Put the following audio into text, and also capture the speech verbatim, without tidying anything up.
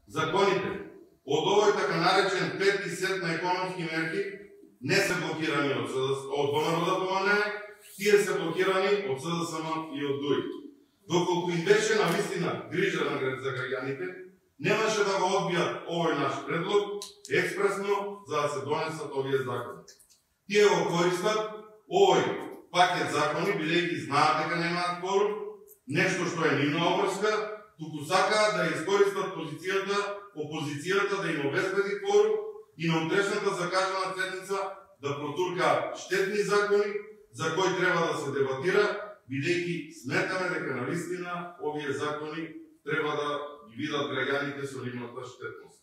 законите од овој така наречен пети сет на економски мерки не се блокирани од ВМРО да ПМН, тие се блокирани од СДСМ и од ДУИ. Доколку им беше на вистина грижа за граѓаните, немаше да го одбијат овој наш предлог експресно за да се донесат овие закони. Тие го користат овој пакет закони, бидејќи знаат дека немаат кворум, нешто што е нивна обврска, туку сакаат да искористат позицијата, опозицијата да им обезбеди кворум и на утрешната закажана седница да протуркаат штетни закони за кои треба да се дебатира, бидејќи сметаме дека навистина овие закони треба да ги видат граѓаните со нивната штетност.